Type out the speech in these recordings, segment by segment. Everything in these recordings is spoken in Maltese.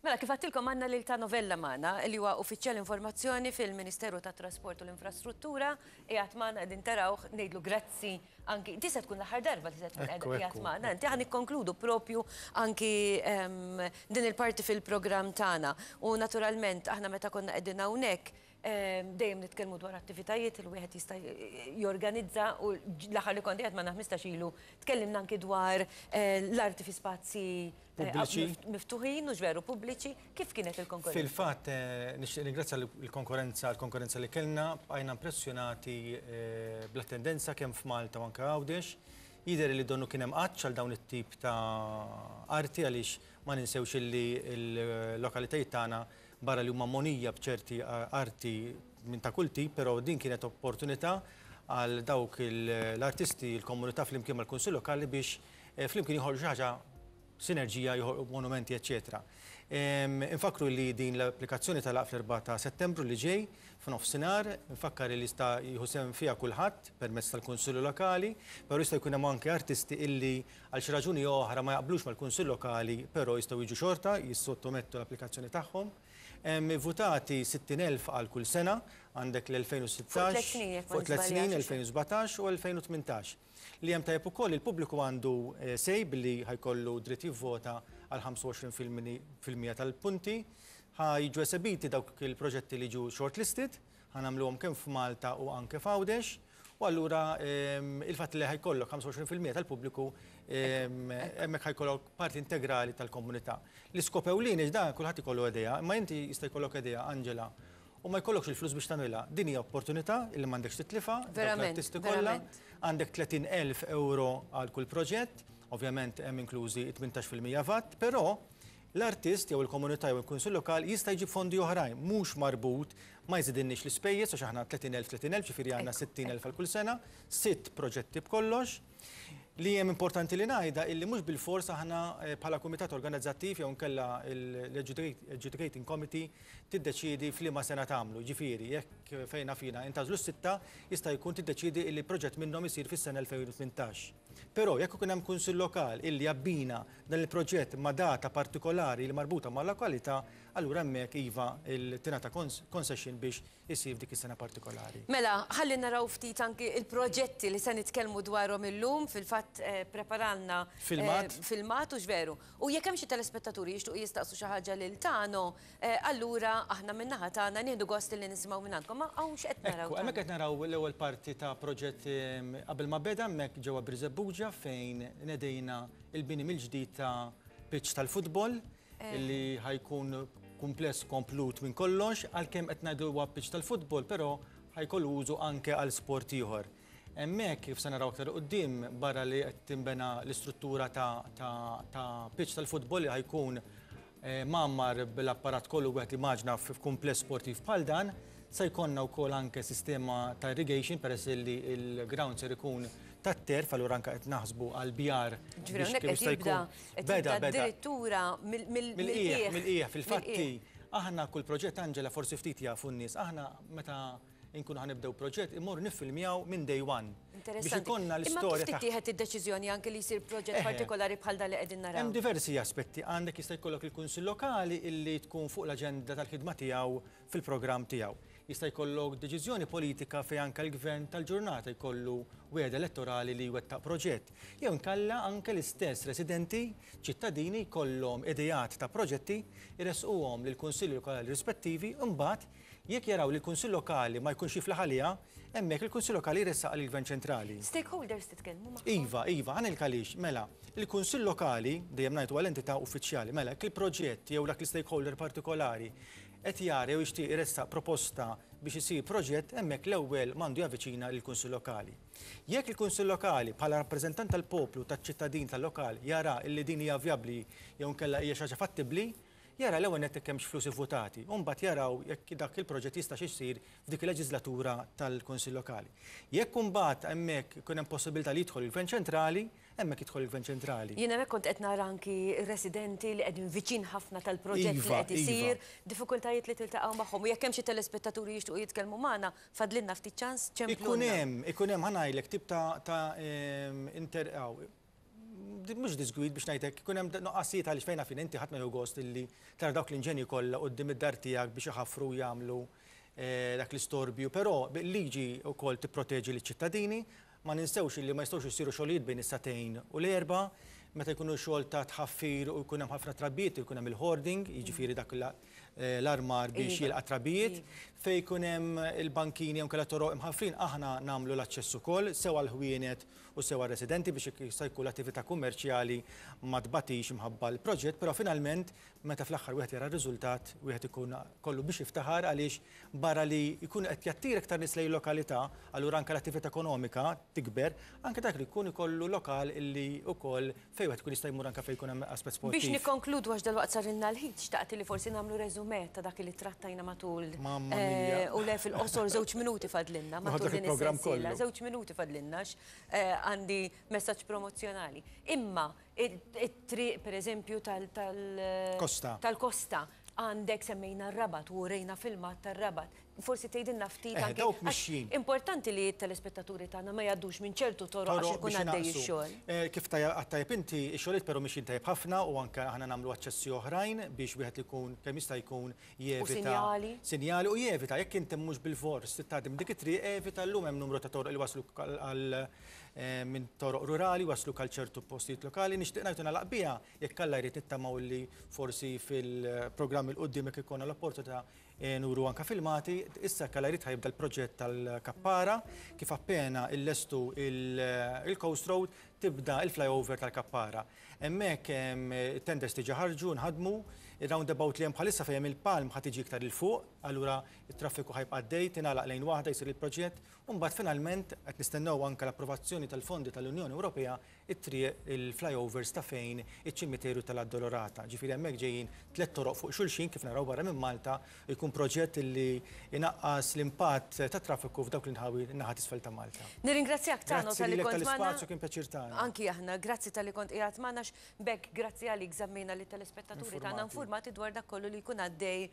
Mela, kif għedtilkom għandna lil Tano Vella magħna, li huwa Uffiċjal Informazzjoni fil-Ministeru tat-Trasport u l-Infrastruttura, qiegħed magħna qegħdin tarawh, ngħidlu grazzi anki, di se tkun l-aħħar darba li se tkun qiegħed magħna inti, ħa nikkonkludu propju anki din il-parti fil-programm tagħna. U naturalment aħna meta konna qegħdin hawnhekk dejjem nitkellmu dwar attivitajiet li wieħed jista' jorganizza u l-aħħar li kont qiegħed magħna 15 ilu tkellimna anki dwar l-arti fi spazji Pubbliċi. Miftuħin, hux veru, pubbliċi. Kif kienet il-konkorrenza? Fil-fatt, nixtieq nirringrazzja l-konkorrenza għall-konkorrenza li kellna, bqajna impressjonati bl-attendenza kemm f'Malta u anke Għawdex. Jidher li donnu kien hemm għatx għal dawn it-tip ta' arti għaliex ma ninsewx illi l-lokalitajiet tagħna barra li huma mogħnija b'ċerti arti minn ta' kull tip, però din kienet opportunità għal dawk l-artisti, l-komunità flimkien mal-Kunsill Lokali biex flimkien joħolqu xi ħaġa sinerġija, joħolqu monumenti, eċċetera. Infakkru li din l-applikazzjoni tagħlaq fl-4 ta' Settembru li ġej f'nofsinhar. Infakkar li jista' jieħu sehem fiha kulħadd permezz tal-Kunsilli Lokali, però jista' jkun hemm anke artisti illi għal xi raġuni jew oħra ma jaqblux mal-Kunsill Lokali però jistgħu jiġu xorta jissottomettu l-applikazzjoni tagħhom. Hemm ivvutati 60,000 għal kull sena, għandek l-2016, fuq tliet snin, 2017 u 2018. Li hemm tajjeb ukoll il-pubbliku għandu say billi ħa jkollu dritt jivvota għal 25% tal-punti. Ħa jiġu esebiti dawk il-proġetti li jiġu shortlisted, ħa nagħmluhom kemm f'Malta u anke f'Għawdex. U allura il-fatt li ħa jkollok 25% tal-pubbliku hemmhekk ħa jkollok parti integrali tal-komunità. L-iskop ewlieni dan kulħadd ikollu idea, imma inti jista' jkollok idea, Angela, u ma jkollokx il-flus biex tagħmilha. Din hija opportunità illi m'għandekx titlifha, dawk l-artisti kollha. Għandek 30,000 euro għal kull proġett, ovvjament hemm inklużi 18% VAT, però l-artist jew il-komunità jew il-kunsill lokali jista' jġib fondi oħrajn, mhux marbut, ma jżidilniex l-ispejjeż għax aħna 30,000 30,000, ġifieri għandna 60,000 għal kull sena, sitt proġetti b'kollox. Li hemm importanti li ngħidha illi mhux bilfors aħna bħala kumitat organizzattiv jew inkella l-adjudicating committee tiddeċiedi f'liema sena tagħmlu. Jiġifieri, jekk fejn naf jiena intgħażlu s-sitta, jista' jkun tiddeċiedi illi proġett minnhom isir fis-sena 2018. Però jekk ikun hemm kunsill lokal illi jabbina dan il-proġett ma' data partikolari li marbuta mal-lokalità, allura hemmhekk iva tingħata concession biex isir f'dik is-sena partikolari. Mela, ħalli naraw ftit anki l-proġetti li se nitkellmu dwarhom illum, fil-fatt preparalna Filmat. filmat, hux veru? U jekk hemm xi telespettaturi jixtiequ jistaqsu xi ħaġa lil Tano, allura aħna min-naħa tagħna nieħdu gost li nisimgħu mingħandkom. Ma hawn x'qed naraw? Ekku, hemmhekk qed naraw l-ewwel parti ta' proġett qabel ma beda hemmhekk ġewwa Birżebbuġa fejn nedejna l-bini mill-ġdid ta' pitch tal-futbol. Li ħa jkun kumpless komplut minn kollox, għalkemm qed ngħidu huwa pitch tal-futbol, però ħa jkollu użu anke għal sport ieħor. Hemmhekk, kif se naraw aktar 'il quddiem, barra li qed tinbena l-istruttura ta' ta' ta' pitch tal-futbol li ħa jkun mgħammar bl-apparat kollu wieħed jimmaġna f'kumpless sportiv bħal dan, Se jkollna wkoll anke sistema ta' irrigation peress li l-ground ser ikun tat-turf, allura anke qed naħsbu għal bjar biex kemm jista' jkun. Beda, beda. Addirittura mill-qiegħ. Mill-qiegħ, fil-fatti aħna kull proġett Angela forsi ftit jafu n-nies, aħna meta nkunu ħa nibdew proġett immorru niffilmjaw minn day one. Biex ikollna l-istorja. Imma kif tittieħed id-deċiżjoni anke li jsir proġett partikolari bħal dan li qegħdin naraw? Hemm diversi aspetti. Għandek jista' jkollok il-Kunsill Lokali illi tkun fuq l-aġenda tal-ħidma tiegħu fil-programm tiegħu. Jista' jkollok deċiżjoni politika fejn anke l-gvern tal-ġurnata jkollu wegħda elettorali li jwettaq proġett. Jew inkella anke l-istess residenti, ċittadini jkollhom ideat ta' proġetti, iressquhom lill-kunsilli lokali rispettivi u mbagħad jekk jaraw li l-kunsill lokali ma jkunx jiflaħ għaliha, hemmhekk il-kunsill lokali jressaqha lill-gvern ċentrali. Stakeholders titkellmu magħhom? Iva, iva, ħa ngħidlek għaliex. Mela, il-kunsill lokali, dejjem ngħid huwa l-entità uffiċjali, mela jekk il-proġett jew dak l-istakeholder partikolari qed jara jew jixtieq iressaq proposta biex isir proġett, hemmhekk l-ewwel m'għandu javviċina lill-Kunsill Lokali. Jekk il-Kunsill Lokali, bħala rappreżentant tal-poplu, taċ-ċittadin tal-lokal, jara illi din hija vjabbli jew inkella hija xi ħaġa fattibbli, jara l-ewwel nett jekk hemmx flus ivvutati u mbagħad jaraw jekk dak il-proġett jistax isir f'dik il-leġiżlatura tal-Kunsill Lokali. Jekk imbagħad hemmhekk ikun hemm possibilità li jidħol il-Gvern Ċentrali, Hemmhekk jidħol il-Gvern Ċentrali. Jien hemmhekk kont qed nara anki residenti li qegħdin viċin ħafna tal-proġett li qed isir, diffikultajiet li tiltaqgħu magħhom. U jekk hemm xi telespettaturi jixtiequ jitkellmu magħna, fadlilna ftit ċans, ċemplulna. Ikun hemm, ikun hemm, ħa ngħidlek, tip ta' ta' inter, mhux diżgwid biex ngħidlek, ikun hemm nuqqasijiet għaliex fejn fin inti ħadd ma jieħu gost illi tara dawk l-inġenji kollha quddiem id-dar tiegħek biex iħaffru u jagħmlu dak l-istorbju, però liġi wkoll tipproteġi liċ-ċittadini. Ma ninsewx illi ma jistgħux isiru xogħlijiet bejn is-sagħtejn u l-4:00, meta jkunu xogħol ta' tħaffir u jkun hemm ħafna trabijiet jkun hemm il-hoarding, jiġifieri dak l-armar biex jilqa' trabijiet. Fejn jkun hemm il-bankini jew inkella toroq imħaffrin aħna nagħmlu l-aċċess ukoll sew għall-ħwienet u sew għar-residenti biex jista' jkun l-attività kummerċjali ma tbatix imħabba l-proġett, però finalment meta fl-aħħar wieħed jara r-riżultat wieħed ikun kollu biex jiftaħar għaliex barra li jkun qed jattira iktar nies lejn il-lokalità, allura anke l-attività ekonomika tikber, anke dak li jkun ikollu lokal illi wkoll fejn wieħed ikun jista' jmur anke fejn jkun hemm aspett sportiv. Biex nikkonkludu għax dalwaqt sarilna l-ħin, xtaqt li forsi nagħmlu resume ta' dak li trattajna matul. Mamma mia. U le fil-qosor żewġ minuti fadlilna matul din is-sensiela. Żewġ minuti fadlilna għax għandi messaġġ promozzjonali. Imma it-triq pereżempju tal-Kosta. Tal-Kosta għandek semmejna r-Rabat u urejna filmat tar-Rabat. Forsi tgħidilna ftit anke. Dawk mixjin. Importanti li t-telespettaturi tagħna ma jgħaddux minn ċertu toroq għax ikun għaddej ix-xogħol. Kif għedt tajjeb inti, ix-xogħlijiet però mixjin tajjeb ħafna u anke aħna nagħmlu aċċessi oħrajn biex wieħed ikun kemm jista' jkun jevita. U sinjali. Sinjali u jevita, jekk inti mhux bilfors trid tgħaddi minn dik it-triq, evita llum hemm numru ta' toroq li waslu għal minn toroq rurali wasluk għal ċertu postijiet lokali. Nixtieq ngħid u nagħlaq biha, jekk Alla jrid nittamaw li forsi fil-programm 'il quddiem jekk ikollna l-opportunità nuru anke filmati, issa jekk Alla jrid ħa jibda l-proġett tal-Kappara, kif appena illestu il-Coast Road tibda il-flyover tal-Kappara. Hemmhekk it-tenders diġà ħarġu, nħadmu, ir-roundabout li hemm bħalissa fejn hemm il-palm ħa tiġi iktar 'il fuq, allura t-traffiku ħa jibqa' għaddej, tingħalaq lejn waħda jsir il-proġett, u mbagħad finalment qed nistennew anke l-approvazzjoni tal-fondi tal-Unjoni Ewropea it-triq il-flyovers ta' fejn iċ-ċimiterju tal-Addolorata. Ġifieri hemmhekk ġejjin tlett toroq fuq xulxin kif naraw barra minn Malta, jkun proġett li jnaqqas l-impatt tat-traffiku f'dawk l-inħawi n-naħa t'isfel ta' Malta. Nirringrazzjak Tano Grazzi talli lilek kont magħna. tal-ispazju, kien pjaċir tagħna. Anki aħna, grazzi talli kont qiegħed magħna għax b'hekk grazzi għalik żammejna lit-telespettaturi tagħna Infurmati. infurmati dwar dak kollu li jkun għaddej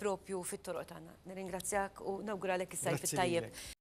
propju fit-toroq tagħna. Nirringrazzjak u nawguralek is-sajf Grazzi it-tajjeb. lilek.